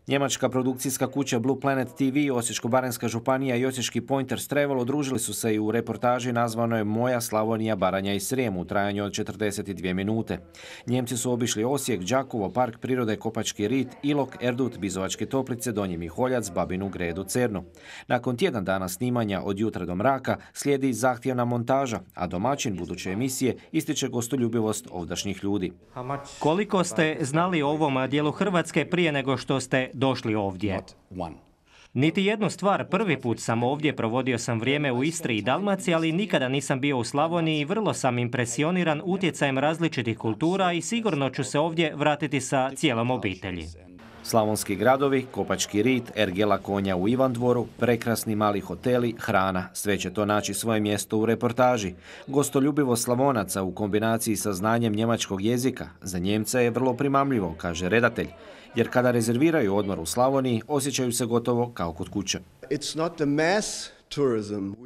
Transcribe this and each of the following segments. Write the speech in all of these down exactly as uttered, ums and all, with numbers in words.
Njemačka produkcijska kuća Blue Planet T V, Osječko-baranjska županija i Osječki Pointers Travel udružili su se i u reportaži nazvanoj Moja Slavonija, Baranja i Srijem u trajanju od četrdeset dvije minute. Njemci su obišli Osijek, Đakovo, Park prirode Kopački rit, Ilok, Erdut, Bizovačke Toplice, Donji Miholjac, Babinu Gredu, Cernu. Nakon tjedan dana snimanja od jutra do mraka slijedi zahtjevna montaža, a domaćin buduće emisije ističe gostoljubivost ovdašnjih ljudi. Koliko ste znali o ovom dijelu Hrvatske prije nego što ste došli ovdje? Niti jednu stvar, prvi put sam ovdje, provodio sam vrijeme u Istri i Dalmaciji, ali nikada nisam bio u Slavoniji i vrlo sam impresioniran utjecajem različitih kultura i sigurno ću se ovdje vratiti sa cijelom obitelji. Slavonski gradovi, Kopački rit, ergela konja u Ivandvoru, prekrasni mali hoteli, hrana, sve će to naći svoje mjesto u reportaži. Gostoljubivo Slavonaca u kombinaciji sa znanjem njemačkog jezika za Njemca je vrlo primamljivo, kaže redatelj, jer kada rezerviraju odmor u Slavoniji, osjećaju se gotovo kao kod kuće.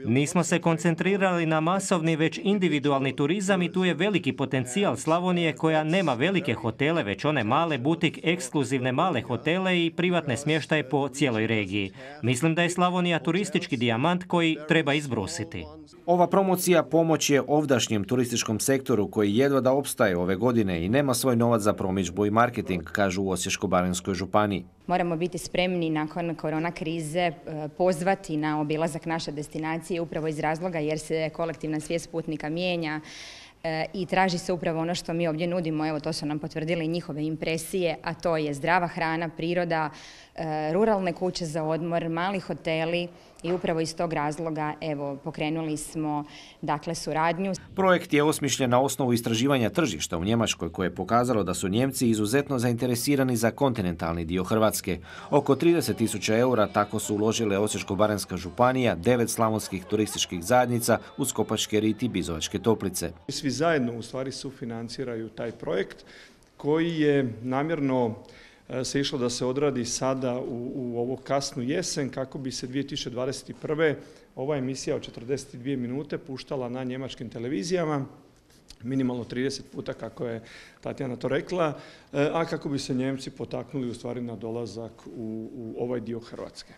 Nismo se koncentrirali na masovni, već individualni turizam i tu je veliki potencijal Slavonije koja nema velike hotele, već one male butik, ekskluzivne male hotele i privatne smještaje po cijeloj regiji. Mislim da je Slavonija turistički dijamant koji treba izbrusiti. Ova promocija pomoć je ovdašnjem turističkom sektoru koji jedva da opstaje ove godine i nema svoj novac za promidžbu i marketing, kažu u Osječko-baranjskoj županiji. Moramo biti spremni nakon korona krize pozvati na obilazak naše destinacije upravo iz razloga jer se kolektivna svijest putnika mijenja i traži se upravo ono što mi ovdje nudimo. Evo, to su nam potvrdile njihove impresije, a to je zdrava hrana, priroda, ruralne kuće za odmor, mali hoteli i upravo iz tog razloga evo, pokrenuli smo dakle, suradnju. Projekt je osmišljen na osnovu istraživanja tržišta u Njemačkoj koje je pokazalo da su Njemci izuzetno zainteresirani za kontinentalni dio Hrvatske. Oko trideset tisuća eura tako su uložile Osječko-baranjska županija, devet slavonskih turističkih zajednica uz Kopački rit i Bizovačke Toplice. Svi zajedno u stvari sufinanciraju taj projekt koji je namjerno se išlo da se odradi sada u, u ovu kasnu jesen kako bi se dvije tisuće dvadeset prve ova emisija od četrdeset dvije minute puštala na njemačkim televizijama, minimalno trideset puta kako je Tatjana to rekla, a kako bi se Njemci potaknuli u stvari na dolazak u, u ovaj dio Hrvatske.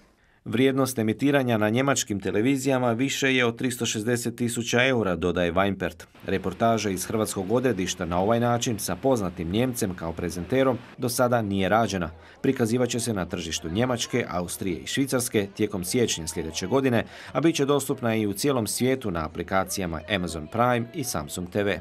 Vrijednost emitiranja na njemačkim televizijama više je od tristo šezdeset tisuća eura, dodaje Weinpert. Reportaža iz hrvatskog odredišta na ovaj način sa poznatim Njemcem kao prezenterom do sada nije rađena. Prikazivaće se na tržištu Njemačke, Austrije i Švicarske tijekom siječnja sljedeće godine, a bit će dostupna i u cijelom svijetu na aplikacijama Amazon Prime i Samsung T V.